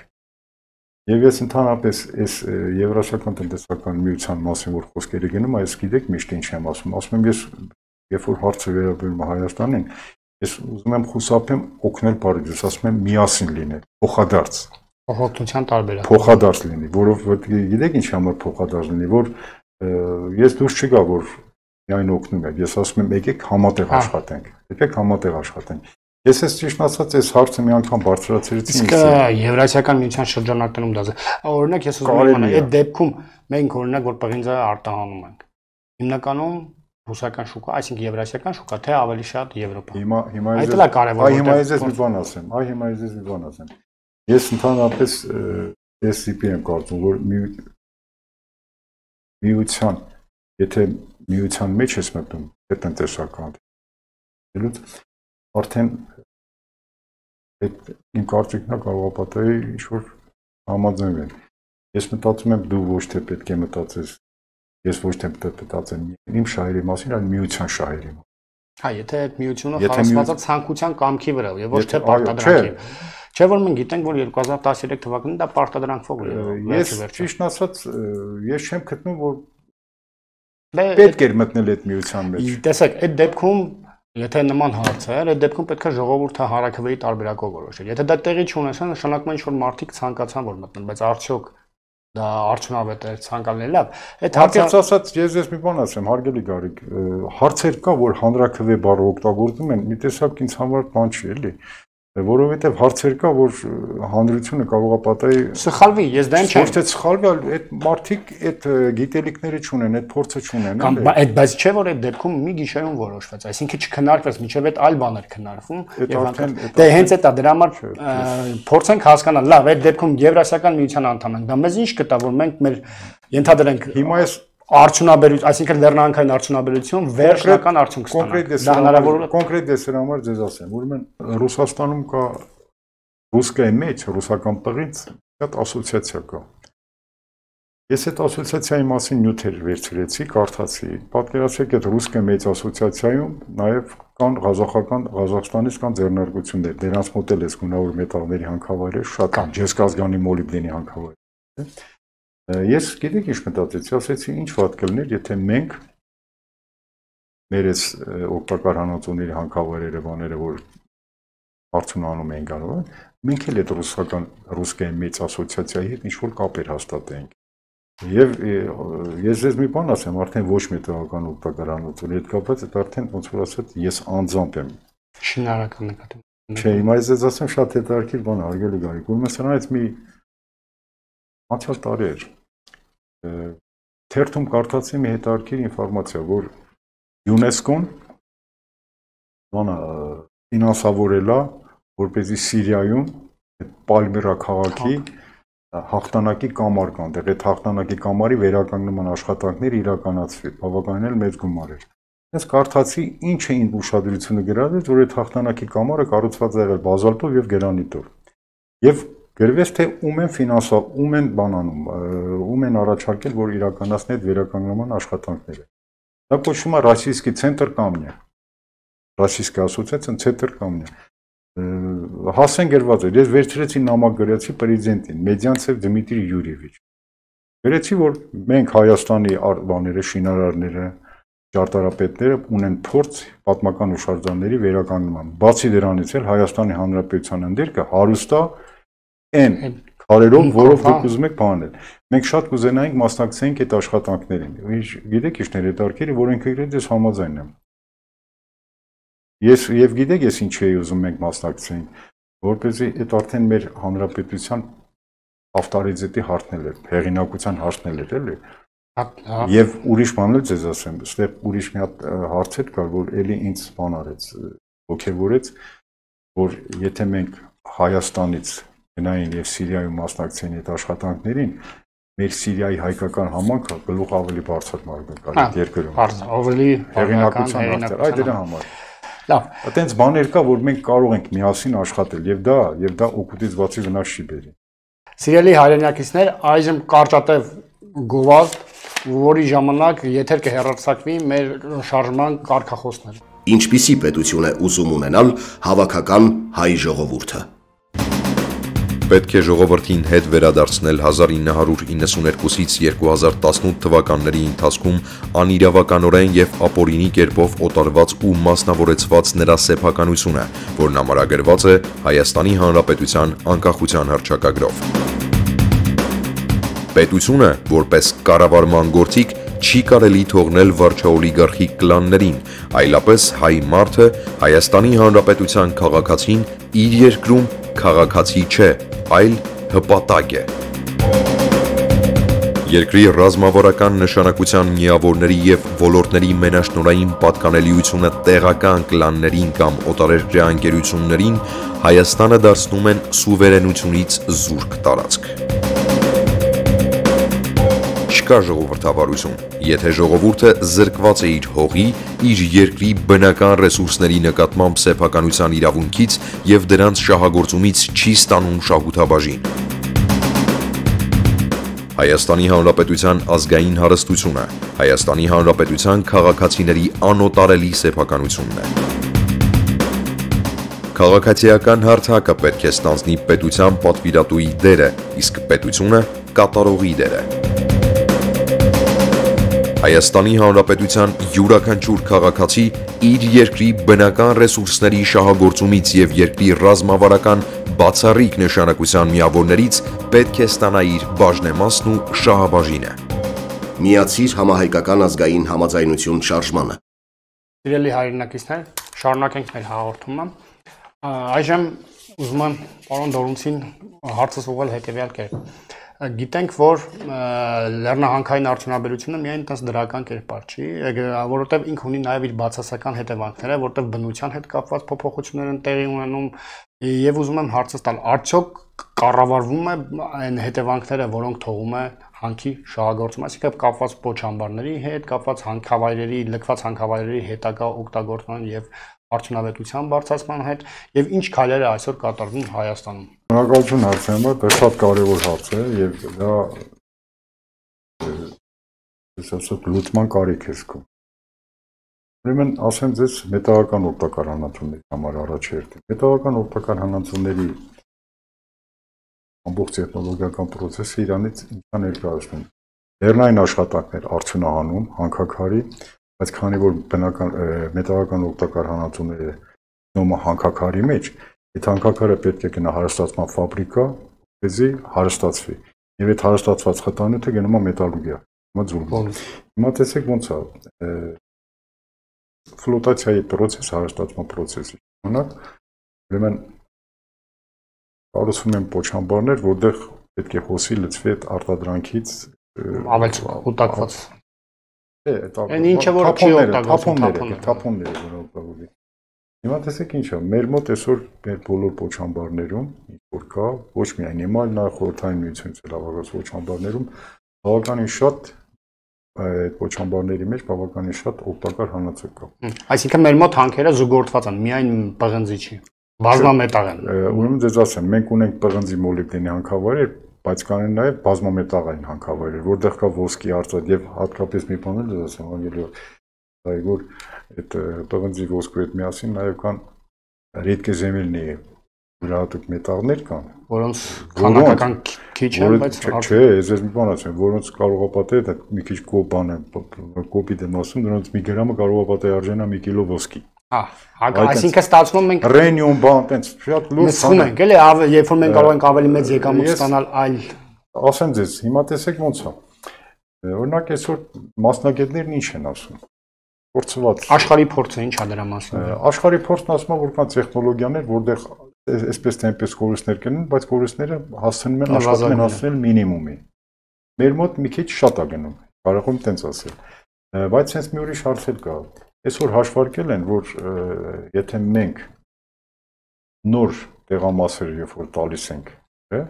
Եվ ես ընդհանրապես այս Եվրասիական տնտեսական միության մասին որ խոսքերը գնում, այս գիտեք միշտ ինչ եմ ասում եմ ես երբ որ հարցը վերաբերում է Հայաստանին, ես ուզում եմ խուսափեմ օգնել Փարիզից, ասում եմ միասին լինել, փոխադարձ։ Փոխօգնության տարբերակ։ Փոխադարձ լինի, որովհետեւ գիտեք ինչ համար փոխադարձ լինի, որ ես դուրս չգա, որ միայն օգնում եք, ես ասում եմ եկեք համատեղ աշխատենք, եկեք համատեղ աշխատենք։ Ես ես ճիշտ ասած այս հարցը մի անգամ բարձրացրեցի ինձ։ Իսկ Եվրասիական միության շրջանակներում դա օրինակ ես ուզում եմ այդ դեպքում մենք օրինակ որ պղինձը արտահանում ենք։ Հիմնականում ռուսական շուկա, այսինքն եվրասիական շուկա, թե ավելի շատ Եվրոպա։ Հիմա այդ էլ է կարևոր։ Հիմա ես մի բան ասեմ։ Ես ընդհանրապես այս տիպի եմ կարծում, որ միության եթե միության մեջ ես մտնում, այդ տնտեսական դելուց արդեն այդ իմ կարծիքն է կարող ապատայի ինչ-որ համաձայնվել։ Ես մտածում եմ դու ոչ թե պետք է մտածես, ես ոչ թե մտածեմ իմ շահերի մասին, այլ միության շահերի մասին։ Հա, եթե այդ միությունը խարսված է ցանկության կամքի վրա եւ ոչ թե պարտադրանքի։ Չէ՞ որ մենք գիտենք, որ 2013 թվականին դա պարտադրանքով էր։ Ես ճիշտ ասած, ես չեմ գտնում, որ պետք էր մտնել այդ միության մեջ։ Տեսեք, այդ դեպքում եթե նման հարց է, այդ դեպքում պետք է ժողովուրդը հանրաքվեի տարբերակով որոշել։ Եթե դա տեղի չունեցա, նշանակում է ինչ որ մարդիկ ցանկացան որ մտնեն, բայց արդյոք դա արդյունավետ է ցանկալի լավ։ Այդ հարցը ասած ես մի բան ասեմ, հարգելի Գարիկ, հարցեր կա, որ հանրաքվե բառը օգտագործում են, մի տեսակ ինձ համար բան չի, էլի։ Որովհետև հարցեր կա, որ հանրությունը կարող է պատահի սխալվի, ես դա չեմ։ Ոչ թե սխալվի, այլ այդ մարդիկ այդ գիտելիքները չունեն, այդ փորձը չունեն, էլի։ Բայց չէ որ այդ դեպքում մի գիշերում որոշվեց, այսինքն չքննարկվեց, մինչև այդ այլ բաներ քննարկվում եւ դե հենց այդ է դրա համար փորձենք հասկանալ, լավ, այդ դեպքում Եվրասիական միության անդամ ենք, դա մեզ ինչ կտա, որ մենք մեր ենթադրենք հիմա ես արդյունաբերություն, այսինքն լեռնանքային արդյունաբերություն վերջնական արդյունք ստանանք։ Դա հնարավոր է կոնկրետ դեսեր համար ձեզ ասեմ, ուրեմն Ռուսաստանում կա ռուսկայի մեջ, ռուսական տղից շատ ասոցիացիա կա։ Ես այդ ասոցիացիայի մասին նյութեր վերցրեցի, կարդացի։ Պատկերացրեք այդ ռուսկայի մեծ ասոցիացիայում նաև կան Ղազախստանից կան ձեռնարկություններ, դրանց մոտ էլ էս գունավոր մետաղների հանքավայրեր շատ կան, ջեսկազգանի մոլիբդենի հանքավայրեր։ Ես գիտեք ինչ մտածեցի, ասեցի ինչ վատ կլներ, եթե մենք մեր այս օգտակար հանածոների հանքավայրերը բաները, որ արդյունանում են գալու, մենք էլ այդ ռուսկայի մեծ ասոցիացիայի հետ ինչ-որ կապեր հաստատենք։ Եվ ես ձեզ մի բան ասեմ, արդեն ոչ մետաղական օգտակար հանածոների հետ կապված, այդ արդեն ոնց որ ասած ես անձամբ եմ։ Շինարարական նկատի։ Չէ, հիմա ես ձեզ ասեմ շատ հետաքրքիր բան, հարգելի Գարիկ, ուրեմն սրանից մի անցյալ տարի էր թերթում կարդացի մի հետաքրքիր ինֆորմացիա, որ ՅՈՒՆԵՍԿՕ-ն ֆինանսավորել է, որպեսզի Սիրիայում Պալմիրա քաղաքի հաղթանակի կամար կան, դեռ այդ հաղթանակի կամարի վերականգնման աշխատանքներ իրականացվի, բավականին էլ մեծ գումար էր։ Ես կարդացի ինչ էին ուշադրությունը գրավել, որ այդ հաղթանակի կամարը կառուցված է եղել բազալտով եւ գրանիտով։ Եվ գրվեց թե ում են բանանում, ում են առաջարկել, որ իրականացնի այդ վերականգնման աշխատանքները։ Դա կոչվում է ռասիստի ցենտր կամնյա։ Ռասիստի ասոցիացիան ցենտր կամնյա։ Հասեն գրված էր, ես վերցրեցի նամակ գրեցի պրեզիդենտին, Մեդյանցև Դմիտրի Յուրիևիչ։ Գրեցի, որ մենք Հայաստանի բաները, շինարարները, ճարտարապետները ունեն փորձ պատմական հուշարձանների վերականգնման։ Բացի դրանից էլ Հայաստանի Հանրապետության ընդերքը հարուստ է այն քարերով, որով դուք ուզում եք բանել։ Մենք շատ կուզենայինք մասնակցենք այդ աշխատանքներին։ Գիտեք ինչն է հետաքրքիրը, որ ինքը գրեց ես համաձայն եմ։ Եվ գիտեք ես ինչ էի ուզում մենք մասնակցենք, որպեսզի այդ արդեն մեր հանրապետության ավտորիտետի հարցնել էր, հեղինակության հարցնել էր, էլի։ Եվ ուրիշ բան էլ ձեզ ասեմ, այստեղ ուրիշ մի հատ հարց էր կար, որ էլի ինձ բան արեց, ոգևորեց, որ եթե մենք Հայաստանից գնային եւ Սիրիայում մասնակցեին այդ աշխատանքներին, մեր Սիրիայի հայկական համանքը գլուխ ավելի բարձր մարդ կար այդ երկրում։ Ավելի հեղինակության հարցեր, այդ դրա համար։ Լավ, այտենց բաներ կա, որ մենք կարող ենք միասին աշխատել եւ դա օգուտից բացի վնաս չի բերի։ Սիրելի հայրենակիցներ, այժմ կարճատև գովազդ, որի ժամանակ եթեր կհեռարձակվի մեր շարժման կարգախոսները։ Ինչպիսի պետություն է ուզում ունենալ հավաքական հայ ժողովուրդը։ Պետք է ժողովրդին հետ վերադարձնել 1992-ից 2018 թվականների ընթացքում անիրավականորեն եւ ապօրինի կերպով օտարված ու մասնավորեցված նրա սեփականությունը, որն ամրագրված է Հայաստանի Հանրապետության անկախության հռչակագրով։ Պետությունը, որպես կառավարման գործիք, չի կարելի թողնել վարչաօլիգարխիկ կլաններին, այլապես հայ մարդը Հայաստանի Հանրապետության քաղաքացին իր երկրում քաղաքացի չէ, այլ հպատակ է։ Երկրի ռազմավարական նշանակության միավորների եւ ոլորտների մենաշնորհային պատկանելիությունը տեղական կլաններին կամ օտարերկրյա ընկերություններին Հայաստանը դարձնում են սուվերենությունից զուրկ տարածք։ չկա ժողովրդավարություն։ Եթե ժողովուրդը զրկված է իր հողի, իր երկրի բնական ռեսուրսների նկատմամբ սեփականության իրավունքից եւ դրանց շահագործումից չի ստանում շահութաբաժին։ Հայաստանի Հանրապետության ազգային հարստությունը, Հայաստանի Հանրապետության քաղաքացիների անօտարելի սեփականությունն է։ Քաղաքացիական հարթակը պետք է ստանձնի պետության պատվիրատուի դերը, իսկ պետությունը կատարողի դերը։ Հայաստանի Հանրապետության յուրաքանչյուր քաղաքացի իր երկրի բնական ռեսուրսների շահագործումից եւ երկրի ռազմավարական բացառիկ նշանակության միավորներից պետք է ստանա իր բաժնեմասն ու շահաբաժինը։ Միացիր համահայկական ազգային համաձայնություն շարժմանը։ Սիրելի հայրենակիցներ, շարունակենք մեր հաղորդումը։ Այժմ ուզում եմ պարոն Դորունցին հարցս ուղղել հետևյալ կերպ։ Գիտենք, որ լեռնահանքային արդյունաբերությունը միայն այդպես դրական կերպար չի, որովհետև ինքը ունի նաև իր բացասական հետևանքները, որտեղ բնության հետ կապված փոփոխություններ են տեղի ունենում, եւ ուզում եմ հարցս տալ, արդյոք կառավարվում է այն հետևանքները, որոնք թողում է հանքի շահագործումը, այսինքն կապված պոչամբարների հետ, կապված հանքավայրերի, լքված հանքավայրերի հետագա օգտագործման եւ արդյունավետության բարձրացման հետ եւ ինչ քայլեր է այսօր կատարվում Հայաստանում։ Շնորհակալություն հարցի համար, դա շատ կարևոր հարց է եւ դա ասած լուծման կարիք է զգում։ Ուրեմն ասեմ ձեզ մետաղական օգտակար հանածոների համար առաջերտին։ Մետաղական օգտակար հանածոների ամբողջ տեխնոլոգիական process-ը իրանից ինչքան ներկայացնում։ Լեռնային աշխատանքներ արդյունահանում, հանքաքարի, բայց քանի որ բնական մետաղական օգտակար հանածոները նոմը հանքաքարի մեջ, այդ հանքաքարը պետք է գնա հարստացման ֆաբրիկա, որպեսզի հարստացվի։ Եվ այդ հարստացված խտանյութը գնում է մետալուրգիա, հիմա ձուլում։ Հիմա տեսեք ոնց է ֆլոտացիայի process, հարստացման process-ի ժամանակ, ուրեմն կառուցվում են պոչամբարներ, որտեղ պետք է հոսի լցվի այդ արտադրանքից ավելի կուտակված։ Այն ինչը որ չի օգտագործվում, թափոնները որոնք։ Հիմա տեսեք ինչ է, մեր մոտ այսօր մեր բոլոր պոչամբարներում, ինչ որ կա, ոչ միայն հիմա, այլ նաև խորհրդային միությունից լավագույն պոչամբարներում բավականին շատ այդ պոչամբարների մեջ բավականին շատ օգտակար հանածո կա։ Այսինքն մեր մոտ հանքերը զուգորդված են, միայն պղնձի չի, բազմամետաղ են։ Ուրեմն ձեզ ասեմ, մենք ունենք պղնձի մոլիբդենի հանքավայրեր, բայց կան նաև բազմամետաղային հանքավայրեր, որտեղ կա ոսկի արտադրություն եւ հատկապես մի բան էլ ասեմ, անգելի այ որ այդ պղնձի ոսկու հետ միասին նաև կան ռեդկեզեմելնի յուրահատուկ մետաղներ կան, որոնց քանակական քիչ են, բայց չէ, ես մի բան ասեմ, որոնց կարող է պատահել, դա մի քիչ կոպան է, կոպիտ եմ ասում, դրանց մի գրամը կարող է պատահել արժանա 1 կիլո ոսկի։ Այսինքն ստացվում է մենք ռենիում բան տենց շատ լուրջ բան ենք, էլի, երբ որ մենք կարող ենք ավելի մեծ եկամուտ ստանալ այլ ասեմ ձեզ, հիմա տեսեք ոնց է։ Օրինակ այսօր մասնագետներն ինչ են ասում։ Փորձված աշխարհի փորձը ինչ է դրա մասին։ Աշխարհի փորձն ասում է, որ կան տեխնոլոգիաներ, որտեղ այսպես թե այնպես կորուստներ կնեն, բայց կորուստները հասցնում են աշխատանքն հասնել մինիմումի։ Մեր մոտ մի քիչ շատ է գնում, կարող եմ տենց ասել։ Բայց sense մի ուրիշ հարց էլ կա։ Այսօր հաշվարկել են, որ եթե մենք նոր տեղամասեր երբ որ տալիս ենք, չէ,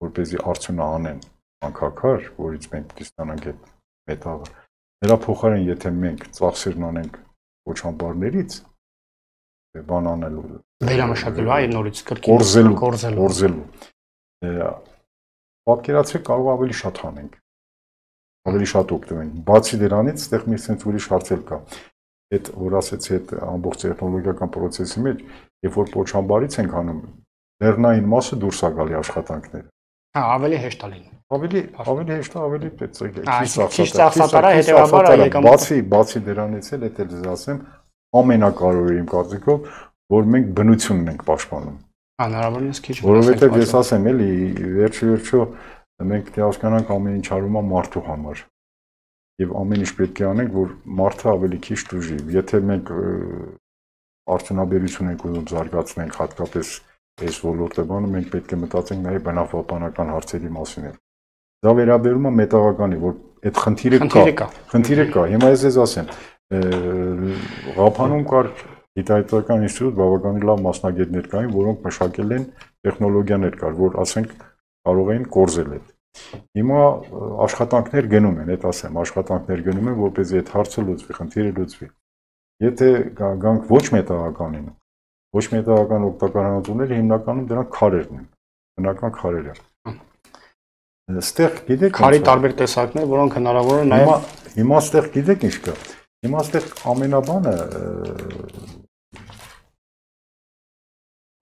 որպեսզի արդյունահանեն հանքաքար, որից մենք պետք է ստանանք այդ մետաղը, նրա փոխարեն եթե մենք ծախսերն անենք պոչամբարներից, բան անելու, վերամշակելու, այ նորից կրկին կորզելու, պատկերացրեք կարող ավելի շատ հանենք, ավելի շատ օգտվենք։ Բացի դրանից, այդտեղ մի sense ուրիշ հարց էլ կա։ Այդ որ ասեցի այդ ամբողջ տեխնոլոգիական process-ի մեջ, երբ որ պոչամբարից ենք անում, լեռնային մասը դուրս է գալի աշխատանքները։ Հա, ավելի հեշտ է լինում։ Ավելի հեշտ է, ավելի քիչ ծախսատար է, հետեւաբար եկամուտ։ Բացի դրանից էլ դա դες ասեմ, ամենակարևորը իմ կարծիքով, որ մենք բնությունն ենք պաշտպանում։ Հնարավորինս քիչ։ Որովհետև ես ասեմ, էլի, վերջո մենք դե հասկանանք ամեն ինչ արվում է մարդու համար։ Եվ ամեն ինչ պետք է անենք, որ մարդը ավելի քիչ դժի։ Եթե մենք արդյունաբերություն ենք ուզում զարգացնենք, հատկապես այս ոլորտը բանը, մենք պետք է մտածենք նաև բնապահպանական հարցերի մասին։ Դա վերաբերում է մետաղականի, որ այդ խնդիրը կա։ Հիմա ես ասեմ, Ղափանում կար գիտահետազոտական ինստիտուտ, բավականին լավ մասնագետներ կային, որոնք մշակել են տեխնոլոգիաներ կար, որ ասենք կարող էին կորզել այդ։ Հիմա աշխատանքներ գնում են, այդ ասեմ, աշխատանքներ գնում են, որպեսզի այդ հարցը լուծվի, խնդիրը լուծվի։ Եթե գանք ոչ մետաղականին, ոչ մետաղական օգտակար հանածոները հիմնականում դրանք քարերն են, բնական քարերը։ Այստեղ գիտեք քարի տարբեր տեսակներ, որոնք հնարավոր է նաև հիմա այստեղ գիտեք ինչ կա։ Հիմա այստեղ ամենաբանը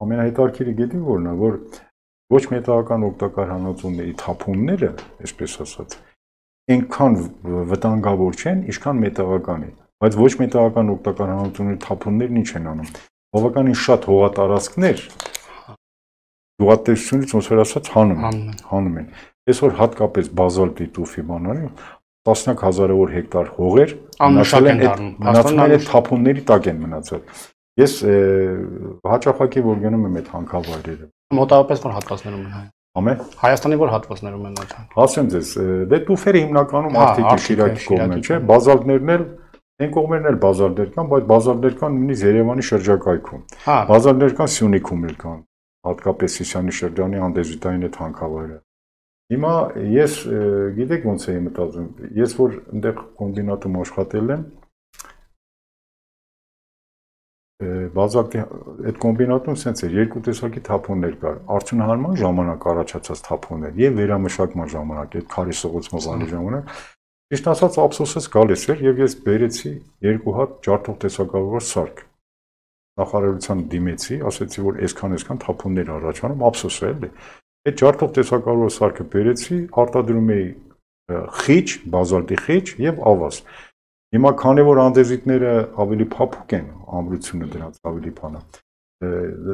ամենահետաքրքիրը գիտեք որն է, որ ոչ մետաղական օգտակար հանածոների թափոնները, այսպես ասած, այնքան վտանգավոր չեն, ինչքան մետաղականի, բայց ոչ մետաղական օգտակար հանածոների թափոններն ինչ են անում։ Բավականին շատ հողատարածքներ գյուղատնտեսությունից ոնց որ ասած հանում են։ Այսօր հատկապես բազալտի տուֆի բանալի տասնյակ հազարավոր հեկտար հողեր մնացել են թափոնների տակ են մնացել։ Ես հաճախակի որ գնում եմ այդ հանքավայրերը։ Մոտավորապես որ հատվածներում են Ամե Հայաստանի որ հատվածներում են այդ։ Ասեմ ձեզ, դե տուֆերը հիմնականում Արթիկի Շիրակի կողմն է, չէ՞, բազալտներն էլ այն կողմերն էլ բազալտներ կան, բայց բազալտներ կան նույնիսկ Երևանի շրջակայքում։ Բազալտներ կան Սյունիքում էլ կան, հատկապես Սիսիանի շրջանի անդեզիտային այդ հանքավայրը։ Հիմա ես գիտեք ոնց էի մտածում, ես որ այնտեղ կոմբինատում աշխատել եմ, բազալտի այդ կոմբինատում սենց էր երկու տեսակի թափոններ կար, արդյունահանման ժամանակ առաջացած թափոններ եւ վերամշակման ժամանակ, այդ քարի սղոցման բանի ժամանակ, ճիշտ ասած ափսոսս գալիս էր եւ ես բերեցի երկու հատ ջարդող տեսակավորված սարք։ Նախարարության դիմեցի, ասեցի որ այսքան թափոններ առաջանում, ափսոս է էլի։ Այդ ջարդող տեսակավորված սարքը բերեցի, արտադրում էի խիճ, բազալտի խիճ եւ ավազ։ Հիմա քանի որ անդեզիտները ավելի փափուկ են, ամրությունը դրանց ավելի բան է։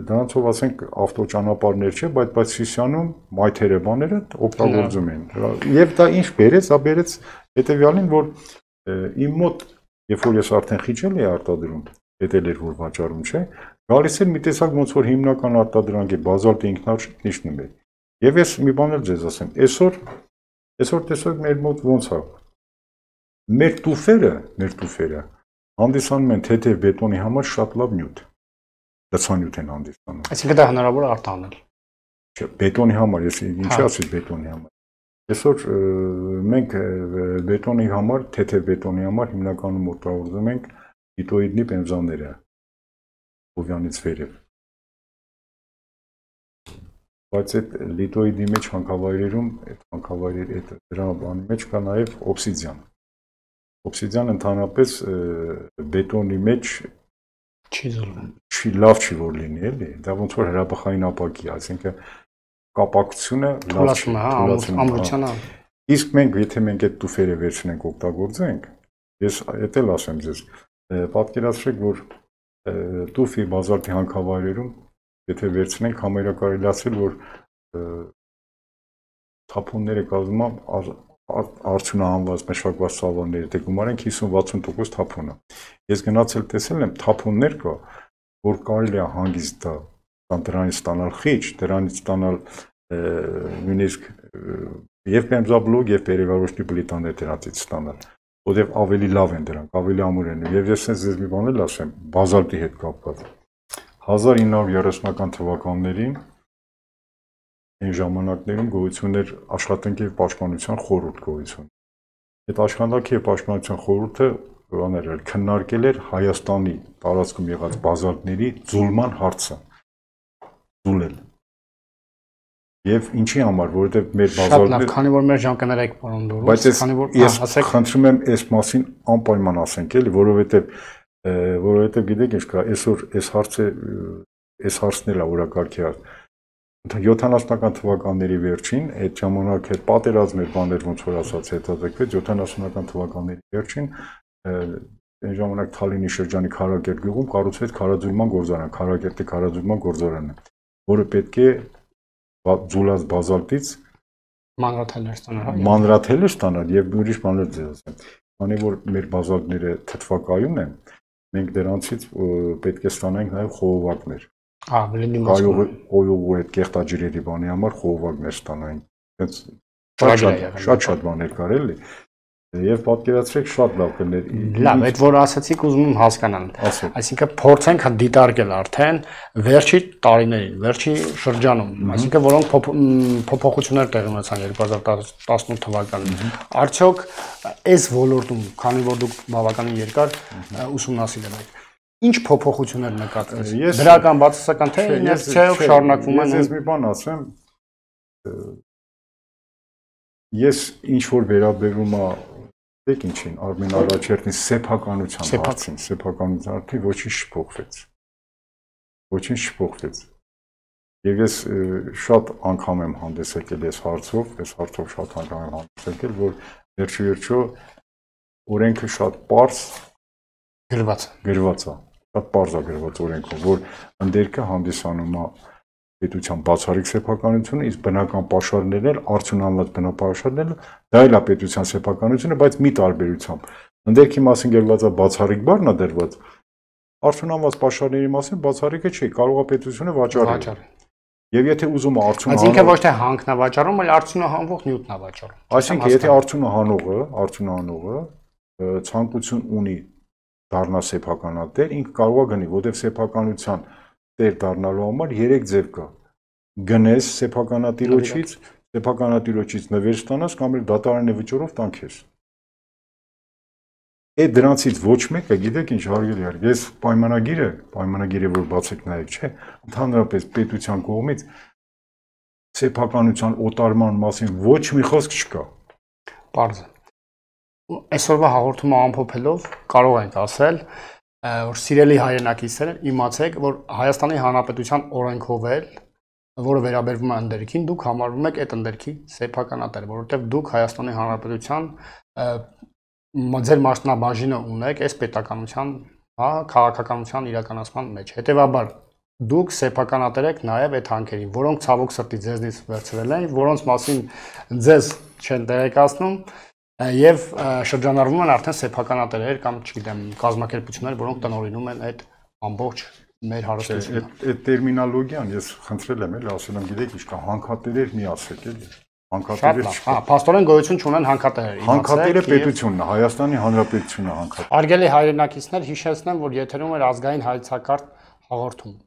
Դրանցով ասենք ավտոճանապարհներ չէ, բայց Սիսիանում մայթերը բաները օգտագործում են։ Եվ դա ինչ բերեց, դա բերեց հետեւյալին, որ իմ մոտ, երբ որ ես արդեն խիճել էի արտադրում, հետել էր որ վաճառում չէ, գալիս էր մի տեսակ ոնց որ հիմնական արտադրանք է, բազալտի ինքնարժեք նշնում էր։ Եվ ես մի բան էլ ձեզ ասեմ, այսօր տեսեք մեր մոտ ոնց է։ Մեր տուֆերը հանդիսանում են թեթև բետոնի համար շատ լավ նյութ։ Լցանյութ են հանդիսանում։ Այսինքն դա հնարավոր է արտահանել։ Չէ, բետոնի համար, ես ինչի ասի բետոնի համար։ Այսօր մենք բետոնի համար, թեթև բետոնի համար հիմնականում օգտագործում ենք լիտոիդնի պենզաները Հովյանից վերև։ Բայց այդ լիտոիդի մեջ հանքավայրերում, այդ հանքավայրերի դրա բանի մեջ կա նաև օբսիդիան։ Օբսիդիան ընդհանրապես բետոնի մեջ լավ չի որ լինի, էլի, դա ոնց որ հրաբխային ապակի, այսինքն կապակցությունը լավ չի, ամրությանը։ Իսկ մենք եթե մենք այդ տուֆերը վերցնենք օգտագործենք, ես էդ էլ ասեմ ձեզ, պատկերացրեք, որ տուֆի բազալտի հանքավայրերում եթե վերցնենք համարյա կարելի ասել, որ թափոնները կազմում արդյունահանված մշակված սավանները, դե գումարենք 50-60% թափոնը։ Ես գնացել տեսել եմ թափոններ կա, որ կարելի է հանգիստ դրանից ստանալ խիճ, դրանից ստանալ նույնիսկ եւ բեմզաբլոկ եւ պերեգարոշնի պլիտաներ դրանից ստանալ, որտեղ ավելի լավ են դրանք, ավելի ամուր են։ Եվ ես sense ձեզ մի բան էլ ասեմ, բազալտի հետ կապված 1930-ական թվականներին այն ժամանակներում գոյություն էր աշխատանքի եւ պաշտպանության խորհուրդ գոյություն։ Այդ աշխատանքի եւ պաշտպանության խորհուրդը քննարկել էր Հայաստանի տարածքում եղած բազալտների ձուլման հարցը։ Ձուլել։ Եվ ինչի համար, որովհետեւ մեր բազալտները Շատ լավ, քանի որ մեր ժամկները եք պարոն Դորոս, բայց ես խնդրում եմ այս մասին անպայման ասենք, էլի, որովհետեւ գիտեք ինչ կա, այսօր այս հարցն է օրակարգի հարց։ 70-ական թվականների վերջին, այդ ժամանակ այդ պատերազմներ բաներ ոնց որ ասած հետաձգվեց 70-ական թվականների վերջին այն ժամանակ Թալինի շրջանի Քարակերտ գյուղում կառուցվեց քարաձուլման գործարան, Քարակերտի քարաձուլման գործարանը, որը պետք է ձուլած բազալտից մանրաթելեր ստանալ եւ ուրիշ բաներ ձեզ ասեմ։ Քանի որ մեր բազալտները թթվակայուն են, մենք դրանցից պետք է ստանանք նաեւ խողովակներ։ Կայողու այդ կեղտաջրերի բանի համար խողովակներ ստանային։ Շատ բաներ կար էլի։ Եվ պատկերացրեք շատ լավ կներ։ Լավ, այդ որ ասացիք ուզում եմ հասկանալ։ Ասեք։ Այսինքն փորձենք դիտարկել արդեն վերջի տարիներին, վերջի շրջանում, այսինքն որոնք փոփոխություններ տեղի ունեցան 2018 թվականին։ Արդյոք այս ոլորտում, քանի որ դուք բավականին երկար ուսումնասիրել եք, ինչ փոփոխություններ նկատվեց։ Դրական բացասական թե իներցիայով շարունակվում են։ Ես մի բան ասեմ, ես ինչ որ վերաբերում է դեք ինչին Արմեն Արաչերտին սեփականության հարցին, սեփականության արդի ոչինչ չփոխվեց։ Ոչինչ չփոխվեց։ Եվ ես շատ անգամ եմ հանդես եկել այս հարցով շատ անգամ եմ հանդես եկել, որ վերջո օրենքը շատ պարզ գրված է, շատ պարզ է գրված օրենքով, որ ընդերքը հանդիսանում է պետության բացառիկ սեփականությունը, իսկ բնական պաշարներն էլ արդյունանված բնապաշարներն դա էլ է պետության սեփականությունը, բայց մի տարբերությամբ։ Ընդերքի մասին գրված է բացառիկ բառն է դրված, արդյունանված պաշարների մասին բացառիկը չի, կարող է պետությունը վաճառել։ Եվ եթե ուզում է արդյունահանող, այսինքն ոչ թե հանքնավաճառում, այլ արդյունահանվող նյութն է վաճառում։ Այսինքն եթե արդյունահանողը ցանկություն ունի դառնա սեփականատեր, ինքը կարող է գնի, որտեղ սեփականության տեր դառնալու համար 3 ձև կա։ Գնես սեփականատիրոջից նվեր ստանաս կամ էլ դատարանի վճռով տան քեզ։ Այդ դրանցից ոչ մեկը, գիտեք ինչ հարգելի, ես պայմանագիրը որ բացեք նայեք, չէ, ընդհանրապես պետության կողմից սեփականության օտարման մասին ոչ մի խոսք չկա։ Պարզ է։ Այսօրվա հաղորդումը ամփոփելով կարող ենք ասել, որ սիրելի հայրենակիցներ, իմացեք, որ Հայաստանի Հանրապետության օրենքով էլ, որը վերաբերվում է ընդերքին, դուք համարվում եք այդ ընդերքի սեփականատեր, որովհետև դուք Հայաստանի Հանրապետության ձեր մասնաբաժինը ունեք այս պետականության, քաղաքականության իրականացման մեջ։ Հետևաբար դուք սեփականատեր եք նաև այդ հանքերին, որոնք ցավոք սրտի ձեզնից վերցրել են, որոնց մասին ձեզ չեն տեղեկացնում եւ շրջանառվում են արդեն սեփականատերեր կամ, չգիտեմ, կազմակերպություններ, որոնք տնօրինում են այդ ամբողջ մեր հարստությունը։ Այդ տերմինոլոգիան ես խնդրել եմ, էլի ասել եմ, գիտեք ինչ կա, հանքատերեր մի ասեք, էլի։ Հանքատերեր չկա։ Փաստորեն գոյություն չունեն հանքատերեր։ Հանքատերը պետությունն է, Հայաստանի Հանրապետությունը հանքատեր։ Արգելի հայրենակիցներ, հիշեցնեմ, որ եթերում էր ազգային հայեցակարգ հաղորդում։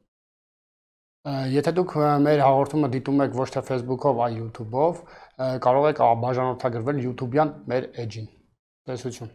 Եթե դուք մեր հաղորդումը դիտում եք ոչ թե Facebook-ով, այլ YouTube-ով, կարող եք բաժանորդագրվել YouTube-յան մեր էջին։ Տեսություն։